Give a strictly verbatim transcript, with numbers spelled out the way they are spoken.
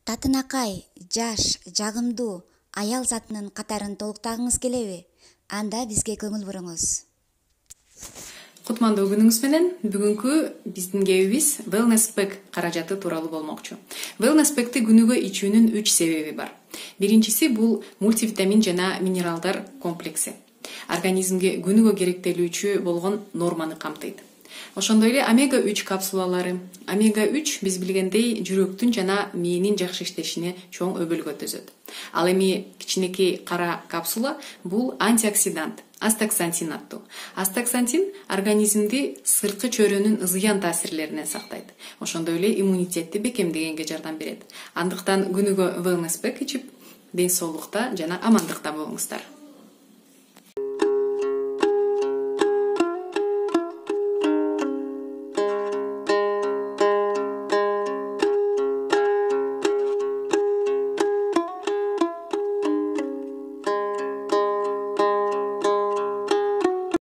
Татынакай, жаш, жагымдуу аял затынын катарын толуктагыңыз келеби? Анда бизге көңүл буруңуз. Кутмандуу күнүңүз менен. Бүгүнкү биздин кебибиз Wellness Pack каражаты тууралуу болмокчу. Wellness Pack'ти күнүгө ичүүнүн үч себеби бар. Биринчиси бул мультивитамин жана минералдар комплекси. Организмге күнүгө керектелүүчү болгон норманы камтыйт. Ошондой эле омега үч капсулалары. омега үч биз билгендей жүрөктүн жана мээнин жакшы иштешине чоң өбөлгө төзөт. Ал эми кичинекей кара капсула бул антиоксидант, астаксантин аттуу. Астаксантин организмди сырткы чөйрөнүн зыян таасирлеринен сактайт. Ошондой эле иммунитетти бекемдегенге жардам берет. Андыктан күнүгө Wellness Pack ичип, ден соолукта жана амандыкта болуңуздар.